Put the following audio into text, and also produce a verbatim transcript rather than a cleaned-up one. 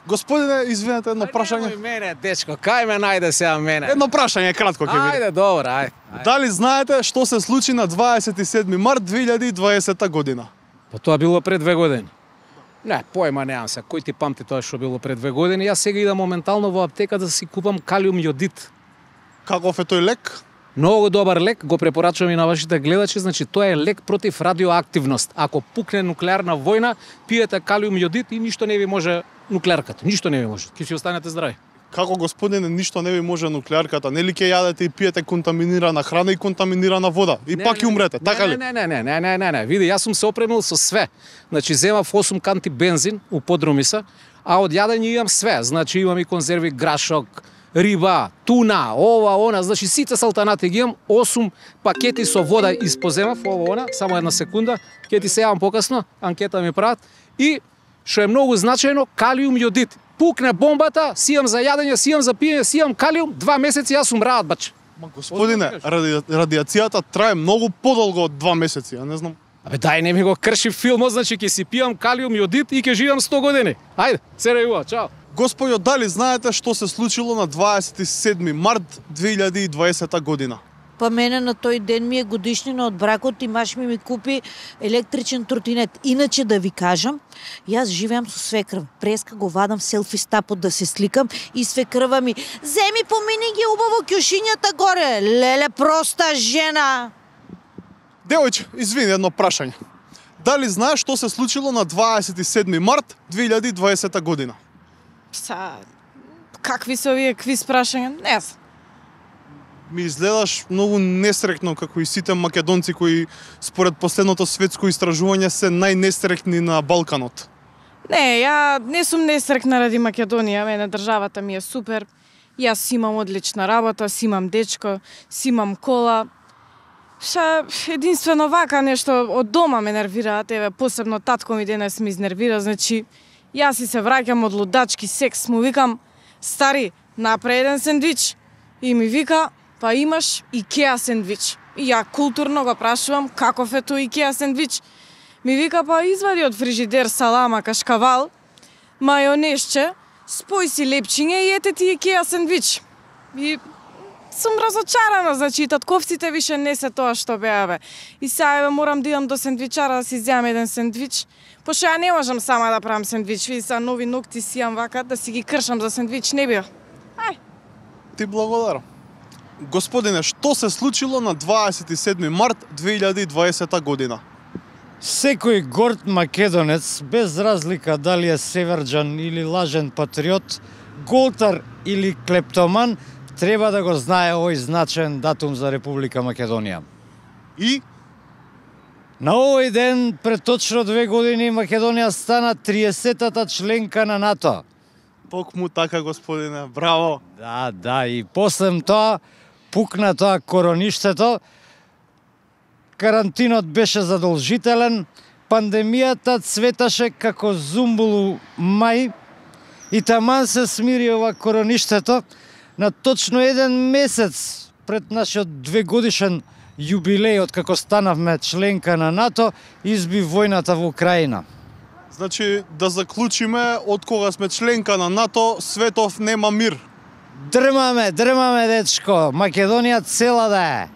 Господине, извинете, едно прашање. Ајде мене, дечко, кај ме најде сега мене. Едно прашање кратко ќе биде. Ајде, добро, ајде. Дали знаете што се случи на дваесет и седми март две илјади и дваесета година? Па тоа било пред две години. Не, појма немам се. Кој ти памти тоа што било пред две години? Јас сега идам моментално во аптека да си купам калиум јодид. Каков е тој лек? Многу добар лек, го препорачувам и на вашите гледачи, значи тоа е лек против радиоактивност. Ако пукне нуклеарна војна, пиете калиум јодид и ништо не ви може нуклеарката, ништо не ви може. Ќе си останете здрави. Како, господине, ништо не ви може нуклеарката? Нели ќе јадете и пиете контаминирана храна и контаминирана вода и Не, пак не, ќе умрете, така ли? Не, не, не, не, не, не, не. Види, јас сум се опремил со све. Значи земав осум канти бензин у подрумиса, а од јадење имам све. Значи имам и конзерви грашок, риба, туна, ова, она, значи сите салтанати ги имам, осум пакети со вода испоземав, ова, она, само една секунда, ќе ти се јавам покасно, анкета ми прават, и што е многу значајно, калиум јодид. Пукне бомбата, сијам за јадење, сијам за пиење, сијам калиум, два месеци јас умраат, бач. Ма, господине, ради, радиацијата трае многу подолго од два месеци, ја не знам. Абе дај не ми го крши филмот, значи ќе си пијам калиум јодид и ќе живеам сто години. Ајде, се рејува, чао. Господјо, дали знаете што се случило на дваесет и седми март две илјади и дваесета година? Па мене на тој ден ми е годишнина од бракот и маш ми ми купи електричен тротинет. Иначе да ви кажам, јас живеам со свекрва. Преска го вадам селфи стапот да се сликам и свекрва ми: "Земи помини ги убаво ќушињата горе, леле проста жена." Девојче, извини, едно прашање. Дали знаеш што се случило на дваесет и седми март две илјади и дваесета година? Са, какви се овие квиз прашања? Не знам. Ми изгледаш многу несрекно, како и сите македонци кои според последното светско истражување се најнесрекни на Балканот. Не, ја не сум несрекна ради Македонија, мене државата ми е супер. Јас си имам одлична работа, си имам дечко, си имам кола. Ша, единствено вака нешто од дома ме нервираат, еве посебно татко ми денес ме изнервира, значи јас си се враќам од лудачки секс, му викам: "Стари, направи еден сендвич." И ми вика: "Па имаш Икеа сендвич." И ја културно го прашувам: "Каков е тој Икеа сендвич?" Ми вика: "Па извади од фрижидер салама, кашкавал, мајонезче, спој си лепчиња и ете ти Икеа сендвич." И сум разочарана, значи татковците више не се тоа што беа бе. И сега еве морам да идам до сендвичара да си земам еден сендвич. Пошто ја не можам сама да правам сендвич, види са нови ногти си имам вака, да си ги кршам за сендвич не бива. Ај. Ти благодарам. Господине, што се случило на дваесет и седми март две илјади и дваесета година? Секој горд македонец, без разлика дали е северџан или лажен патриот, голтар или клептоман, треба да го знае овој значаен датум за Република Македонија. И? На овој ден, пред точно две години, Македонија стана триесетата членка на НАТО. Токму така, господине, браво! Да, да, и после тоа пукна тоа короништето, карантинот беше задолжителен, пандемијата цветаше како зумбул мај и таман се смири ова короништето на точно еден месец пред нашиот двегодишен јубилеј од како станавме членка на НАТО, изби војната во Украина. Значи, да заклучиме, од кога сме членка на НАТО, светов нема мир. Дрмаме, дрмаме, дечко, Македонија цела да е.